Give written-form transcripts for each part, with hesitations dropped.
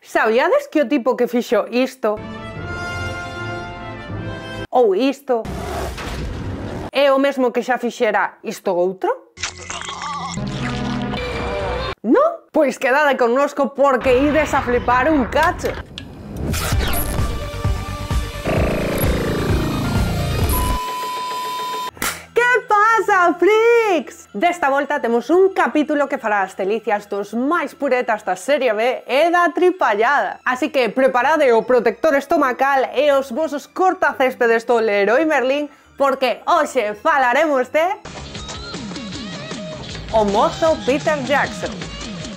Sabíades que o tipo que fixo isto ou isto é o mesmo que xa fixera isto outro? Non? Pois quedade connosco porque ides a flipar un cacho. Freaks! Desta volta temos un capítulo que fará as delicias dos máis puretas da serie B e da tripallada. Así que preparade o protector estomacal e os vosos cortacéspedes do Leroy Merlin porque hoxe falaremos de... o mozo Peter Jackson.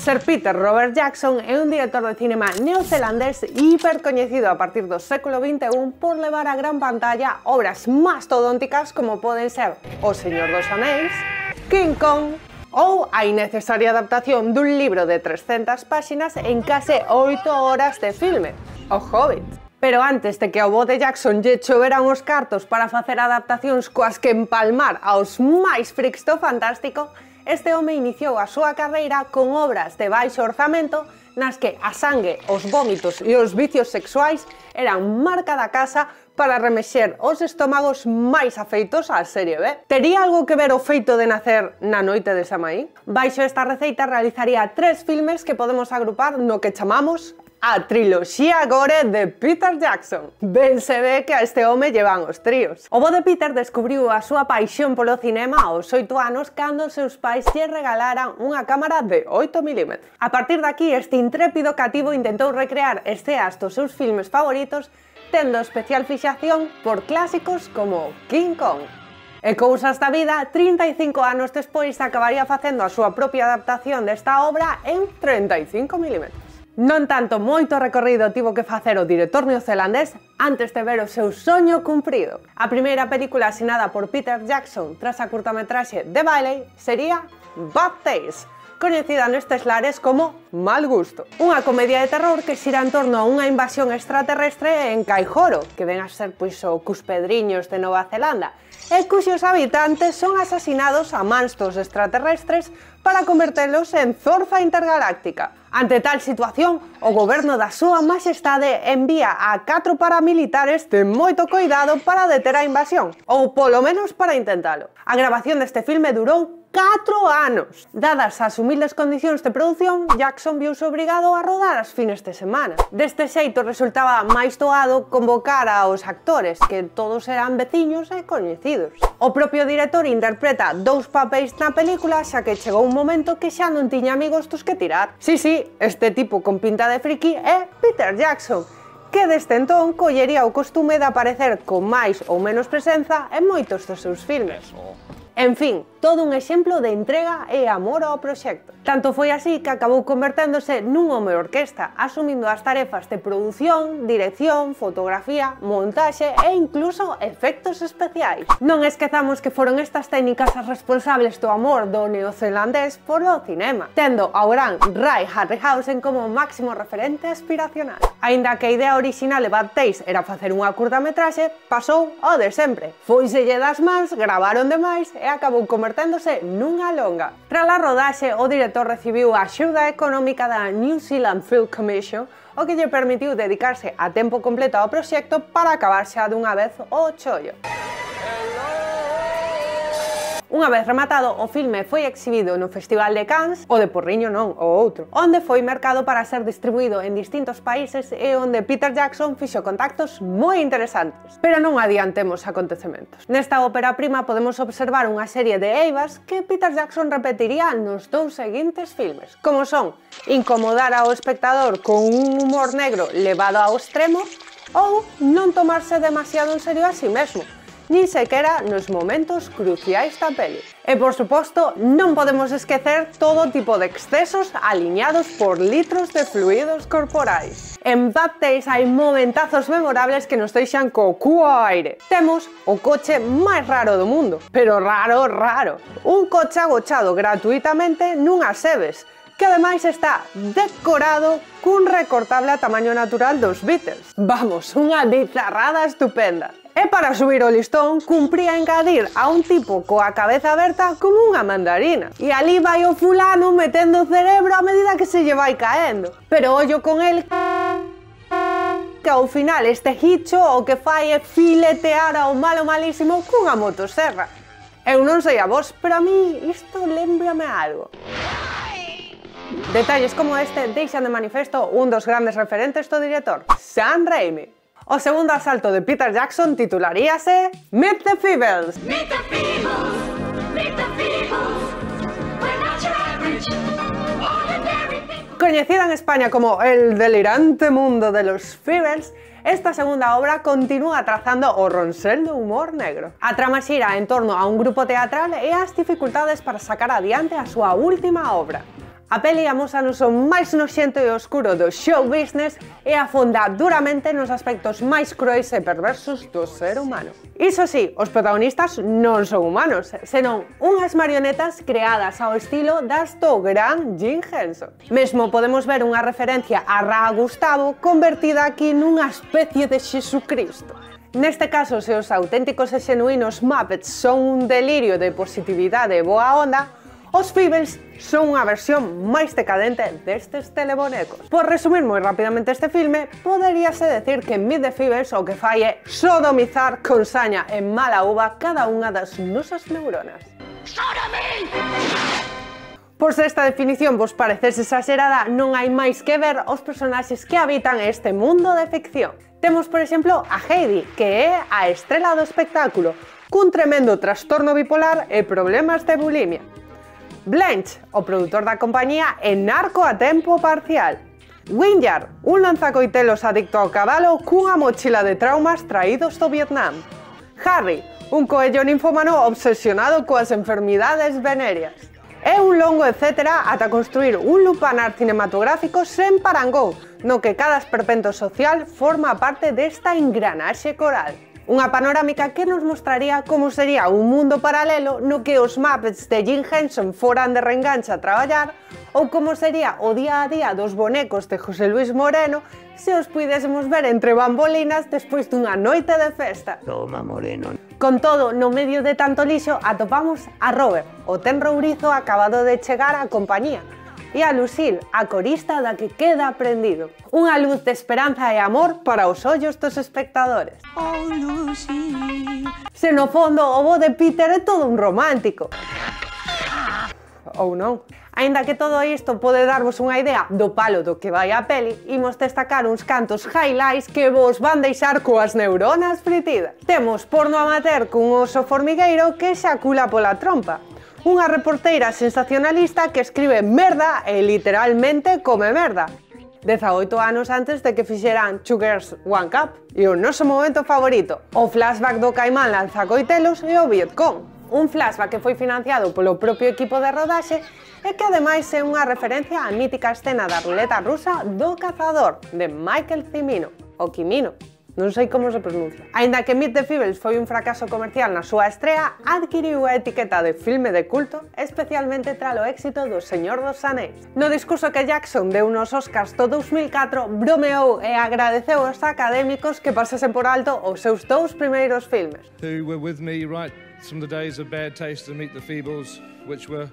Sir Peter Robert Jackson é un director de cinema neozelandés hipercoñecido a partir do século XXI por levar á gran pantalla obras mastodónticas como poden ser O Señor dos Anéis, King Kong ou a innecesaria adaptación dun libro de 300 páxinas en case 8 horas de filme, O Hobbit. Pero antes de que ao bo de Jackson lle choveran os cartos para facer adaptacións coas que empalmar aos máis freaks do fantástico, este home iniciou a súa carreira con obras de baixo orzamento nas que a sangue, os vómitos e os vicios sexuais eran marca da casa para remexer os estómagos máis afeitos á serie B. Tería algo que ver o feito de nacer na noite de Samaín? Baixo esta receita realizaría 3 filmes que podemos agrupar no que chamamos a triloxía gore de Peter Jackson. Ben se ve que a este home llevan os tríos. O bo de Peter descubriu a súa paixón polo cinema aos 8 anos cando os seus pais lle regalaran unha cámara de 8 mm. A partir daqui, este intrépido cativo intentou recrear escenas dos seus filmes favoritos, tendo especial fixación por clásicos como King Kong. E cousas da vida, 35 anos despois acabaría facendo a súa propia adaptación desta obra en 35 mm. Non tanto moito recorrido tivo que facer o director neozelandés antes de ver o seu soño cumprido. A primeira película asinada por Peter Jackson tras a curtametraxe The Valley sería Bad Taste, coñecida nestes lares como Mal Gusto. Unha comedia de terror que xira en torno a unha invasión extraterrestre en Kaihoro, que ven a ser pois o Cuspedriños de Nova Zelanda, e cuxos habitantes son asasinados a mans dos extraterrestres para convertelos en zorza intergaláctica. Ante tal situación, o goberno da súa majestade envía a 4 paramilitares de moito coidado para deter a invasión, ou polo menos para intentalo. A grabación deste filme durou 4 anos. Dadas as humildes condicións de produción, Jackson viuse obrigado a rodar as fines de semana. Deste xeito resultaba máis doado convocar aos actores, que todos eran veciños e coñecidos. O propio director interpreta 2 papéis na película, xa que chegou un momento que xa non tiña amigos dos que tirar. Sí, este tipo con pinta de friki é Peter Jackson, que desde entón collería o costume de aparecer con máis ou menos presenza en moitos dos seus filmes. En fin, todo un exemplo de entrega e amor ao proxecto. Tanto foi así que acabou converténdose nun home orquesta, asumindo as tarefas de produción, dirección, fotografía, montaxe e incluso efectos especiais. Non esquezamos que foron estas técnicas as responsables do amor do neozelandés polo cinema, tendo ao gran Ray Harryhausen como máximo referente aspiracional. Aínda que a idea orixinal de Bad Taste era facer unha curtametraxe, pasou ao de sempre. Fóiselle das mans, gravaron demais e acabou converténdose nunha longa. Tras a rodaxe, o director recibiu a axuda económica da New Zealand Film Commission, o que lle permitiu dedicarse a tempo completo ao proxecto para acabar xa dunha vez o chollo. Unha vez rematado, o filme foi exhibido no Festival de Cannes, o de Porriño non, o outro, onde foi mercado para ser distribuído en distintos países e onde Peter Jackson fixo contactos moi interesantes. Pero non adiantemos acontecementos. Nesta ópera prima podemos observar unha serie de eivas que Peter Jackson repetiría nos 2 seguintes filmes, como son incomodar ao espectador con un humor negro levado ao extremo ou non tomarse demasiado en serio a si mesmo, nin sequera nos momentos cruciais da peli. E, por suposto, non podemos esquecer todo tipo de excesos aliñados por litros de fluidos corporais. En Bad Taste hai momentazos memorables que nos deixan co cu ao aire. Temos o coche máis raro do mundo, pero raro, raro. Un coche agochado gratuitamente nunhas sebes, que ademais está decorado cun recortable a tamaño natural dos Beatles. Vamos, unha bizarrada estupenda. E para subir o listón, cumpría engadir a un tipo coa cabeza aberta como unha mandarina. E ali vai o fulano metendo o cerebro a medida que se lle vai caendo. Pero ollo con el, que ao final este hicho o que fai é filetear ao malo malísimo cunha motosserra. Eu non sei a vos, pero a mí isto lembrame algo. Detalles como este deixan de manifesto un dos grandes referentes do director, Sam Raimi. O segundo asalto de Peter Jackson titularíase Meet the Feebles. Meet the Feebles, meet the Feebles, we're not your average, ordinary people. Coñecida en España como El delirante mundo de los Feebles, esta segunda obra continúa trazando o ronsel do humor negro. A trama xira en torno a un grupo teatral e as dificultades para sacar adiante a súa última obra. A peli amósanos o máis noxento e oscuro do show business e afonda duramente nos aspectos máis crueis e perversos do ser humano. Iso sí, os protagonistas non son humanos, senón unhas marionetas creadas ao estilo das do gran Jim Henson. Mesmo podemos ver unha referencia a Ra Gustavo convertida aquí nunha especie de Xesucristo. Neste caso, se os auténticos e xenuínos Muppets son un delirio de positividade e boa onda, os Feebles son unha versión máis decadente destes telebonecos. Por resumir moi rapidamente este filme, poderíase decir que Meet the Feebles o que fai é sodomizar con saña e mala uva cada unha das nosas neuronas. Por se esta definición vos parecese exagerada, non hai máis que ver os personaxes que habitan este mundo de ficción. Temos, por exemplo, a Heidi, que é a estrela do espectáculo, cun tremendo trastorno bipolar e problemas de bulimia. Blanche, o produtor da compañía e narco a tempo parcial. Winyard, un lanzacoitelos adicto ao cabalo cunha mochila de traumas traídos do Vietnam. Harry, un coello ninfómano obsesionado coas enfermidades venéreas. É un longo etcétera ata construir un lupanar cinematográfico sen parangón, no que cada esperpento social forma parte desta engranaxe coral. Unha panorámica que nos mostraría como sería un mundo paralelo no que os Muppets de Jim Henson foran de reengancha a traballar ou como sería o día a día dos bonecos de José Luis Moreno se os puidésemos ver entre bambolinas despois dunha noite de festa. Toma, Moreno. Con todo, no medio de tanto lixo atopamos a Robert, o tenro ourizo acabado de chegar á compañía, e a Lucille, a corista da que queda aprendido. Unha luz de esperanza e amor para os ollos dos espectadores. Oh, Lucille. Se no fondo o bo de Peter é todo un romántico. Ou non. Aínda que todo isto pode darvos unha idea do palo do que vai a peli, imos destacar uns cantos highlights que vos van deixar coas neuronas fritidas. Temos porno amateur cun oso formigueiro que xacula pola trompa. Unha reporteira sensacionalista que escribe merda e literalmente come merda. 18 anos antes de que fixeran Two Girls, One Cup. E o noso momento favorito, o flashback do Caimán lanzacoitelos e o Vietcong. Un flashback que foi financiado polo propio equipo de rodaxe e que ademais é unha referencia á mítica escena da ruleta rusa do cazador, de Michael Cimino, o Quimino. Non sei como se pronuncia. Aínda que Meet the Feebles foi un fracaso comercial na súa estrea, adquiriu a etiqueta de filme de culto, especialmente tras o éxito do Señor dos Anéis. No discurso que Jackson deu nos Oscars do 2004, bromeou e agradeceu aos académicos que pasasen por alto os seus dous primeiros filmes. Who were with me right from the days of Bad Taste and Meet the Feebles, which were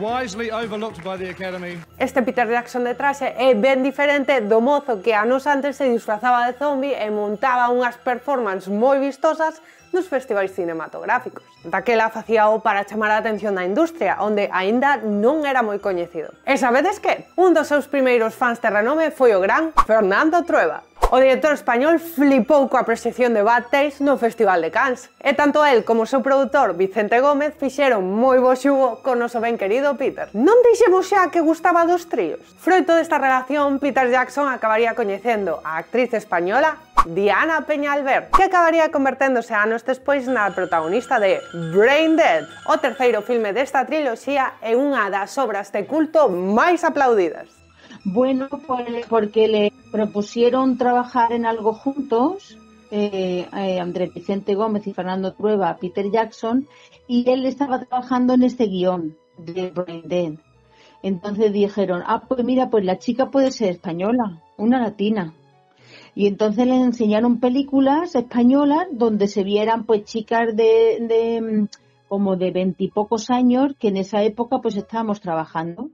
wisely overlooked by the Academy. Este Peter Jackson de traxe é ben diferente do mozo que anos antes se disfrazaba de zombie e montaba unhas performances moi vistosas nos festivais cinematográficos. Daquela facíao para chamar a atención da industria, onde aínda non era moi coñecido. E sabedes que? Un dos seus primeiros fans de renome foi o gran Fernando Trueba. O director español flipou coa proxección de Bad Taste no Festival de Cannes. E tanto el como o seu produtor Vicente Gómez fixeron moi bo xugo con o noso ben querido Peter. Non dixemos xa que gustaba dos tríos. Froito desta relación, Peter Jackson acabaría coñecendo a actriz española Diana Peñalver, que acabaría converténdose anos despois na protagonista de Brain Dead, o terceiro filme desta triloxía e unha das obras de culto máis aplaudidas. Bueno, porque le propusieron trabajar en algo juntos, Andrés Vicente Gómez y Fernando Trueba, Peter Jackson, y él estaba trabajando en este guión de Brain Dead. Entonces dijeron, pues mira, pues la chica puede ser española, una latina. Y entonces les enseñaron películas españolas donde se vieran pues chicas como de 20 y pocos años que en esa época pues estábamos trabajando.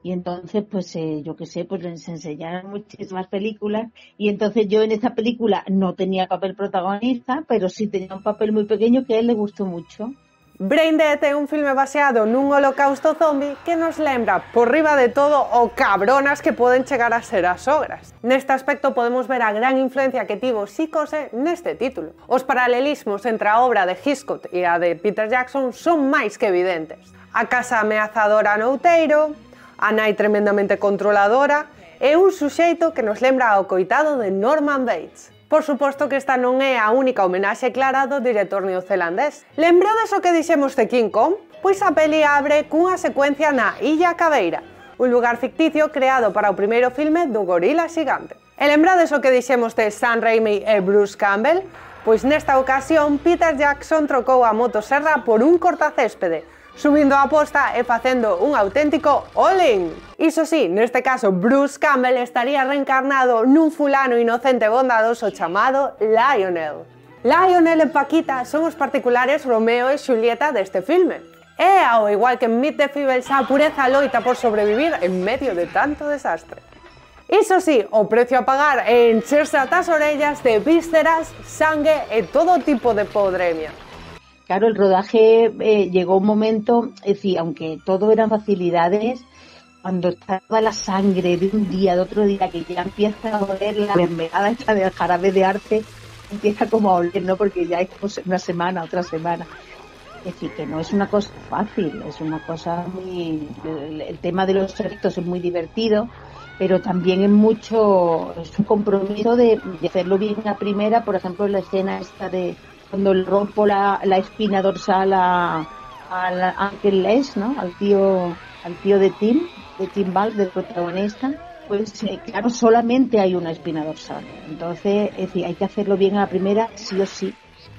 Y entonces, pues yo qué sé, pues les enseñaron muchísimas películas. Y entonces yo en esta película no tenía papel protagonista, pero sí tenía un papel muy pequeño que a él le gustó mucho. Braindead é un filme baseado nun holocausto zombie que nos lembra, por riba de todo, o cabronas que poden chegar a ser as ogras. Neste aspecto podemos ver a gran influencia que tivo Psicose neste título. Os paralelismos entre a obra de Hitchcock e a de Peter Jackson son máis que evidentes. A casa ameazadora no outeiro, a nai tremendamente controladora e un suxeito que nos lembra ao coitado de Norman Bates. Por suposto que esta non é a única homenaxe clara do director neozelandés. Lembrades o que dixemos de King Kong? Pois a peli abre cunha secuencia na Illa Caveira, un lugar ficticio creado para o primeiro filme do gorila xigante. E lembrades o que dixemos de Sam Raimi e Bruce Campbell? Pois nesta ocasión Peter Jackson trocou a motosserra por un cortacéspede, subindo a posta e facendo un auténtico all-in. Iso sí, neste caso Bruce Campbell estaría reencarnado nun fulano inocente e bondadoso chamado Lionel. Lionel e Paquita son os particulares Romeo e Xulieta deste filme. E, ao igual que en Meet the Feebles, a pureza loita por sobrevivir en medio de tanto desastre. Iso sí, o precio a pagar é encherse ata as orellas de vísceras, sangue e todo tipo de podremia. Claro, el rodaje llegó un momento, es decir, aunque todo eran facilidades, cuando estaba la sangre de un día, de otro día, que ya empieza a oler la mermelada esta del jarabe de arte, empieza como a oler, ¿no? Porque ya es como una semana, otra semana. Es decir, que no es una cosa fácil, es una cosa muy... El tema de los efectos es muy divertido, pero también es un compromiso de hacerlo bien a primera. Por ejemplo, la escena esta de cuando le rompo la espina dorsal al Uncle Les, ¿no? Al tío de Tim Ball, del protagonista, pues claro, solamente hay una espina dorsal. Entonces, es decir, hay que hacerlo bien a la primera, sí o sí.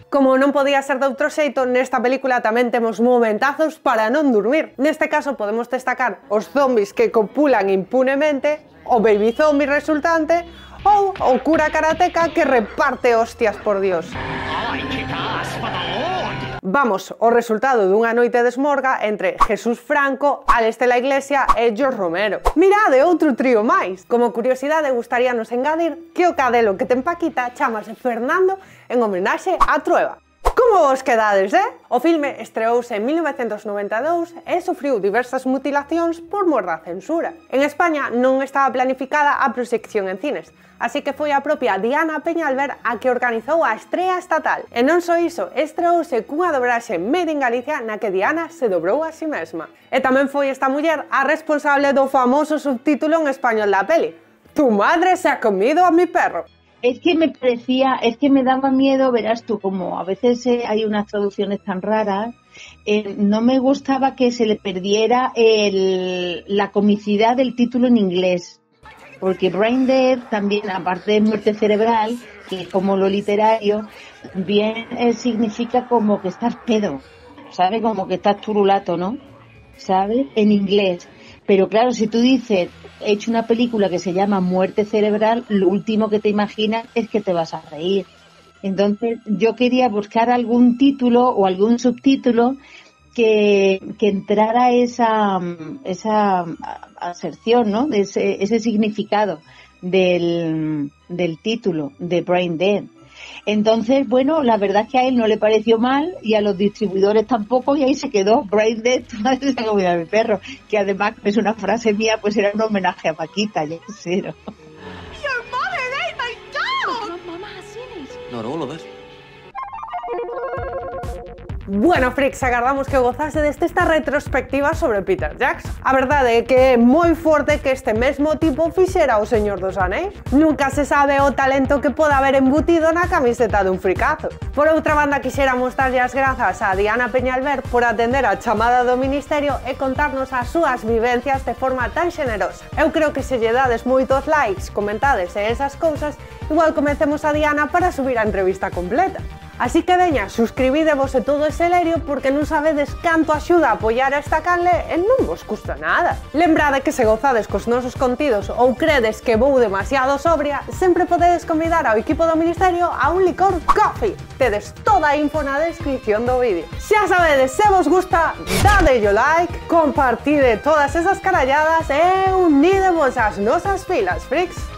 Como non podía ser de outro xeito, nesta película tamén temos momentazos para non dormir. Neste caso podemos destacar os zombies que copulan impunemente, o baby zombie resultante, ou o cura karateca que reparte hostias por Dios. Vamos, o resultado dunha noite de esmorga entre Jesús Franco, Alex de la Iglesia e George Romero. Mirade, outro trío máis. Como curiosidade, gustaríanos engadir que o cadelo que ten Paquita chamase Fernando en homenaxe a Trueba. Como vos quedades, O filme estreouse en 1992 e sufriu diversas mutilacións por mor da censura. En España non estaba planificada a proxección en cines, así que foi a propia Diana Peñalver a que organizou a estrea estatal. E non só iso, estreouse cunha dobraxe made in Galicia na que Diana se dobrou a si mesma. E tamén foi esta muller a responsable do famoso subtítulo en español da peli: Tu madre se ha comido a mi perro. Es que me daba miedo, verás tú, como a veces hay unas traducciones tan raras, no me gustaba que se le perdiera la comicidad del título en inglés, porque Brain Dead también, aparte de muerte cerebral, que es como lo literario, también significa como que estás pedo, ¿sabes? Como que estás turulato, ¿no? ¿Sabes? En inglés. Pero claro, si tú dices, he hecho una película que se llama Muerte Cerebral, lo último que te imaginas es que te vas a reír. Entonces yo quería buscar algún título o algún subtítulo que entrara esa aserción, ¿no? De ese significado del título de Brain Dead. Entonces, bueno, la verdad es que a él no le pareció mal y a los distribuidores tampoco, y ahí se quedó Brain Dead, tu madre se ha comido a mi perro, que además es una frase mía, pues era un homenaje a Paquita, ya sé, ¿no? Your mother ate my dog! Mama has seen it. Not all of it. Bueno, freaks, agardamos que gozase desta retrospectiva sobre Peter Jackson. A verdade é que é moi forte que este mesmo tipo fixera o Señor dos Anéis. Nunca se sabe o talento que pode haber embutido na camiseta dun fricazo. Por outra banda, quixéramos darlle as grazas a Diana Peñalver por atender a chamada do Ministerio e contarnos as súas vivencias de forma tan xenerosa. Eu creo que se lle dades moitos likes, comentades e esas cousas, igual convencemos a Diana para subir a entrevista completa. Así que veña, suscribidevos e todo ese lerio porque non sabedes canto axuda a apoiar esta canle e non vos custa nada. Lembrade que se gozades cos nosos contidos ou credes que vou demasiado sobria, sempre podedes convidar ao equipo do Ministerio a un licor coffee. Tedes toda a info na descripción do vídeo. Xa sabedes, se vos gusta, dadelle like, compartide todas esas caralladas e unídevos ás nosas filas, freaks.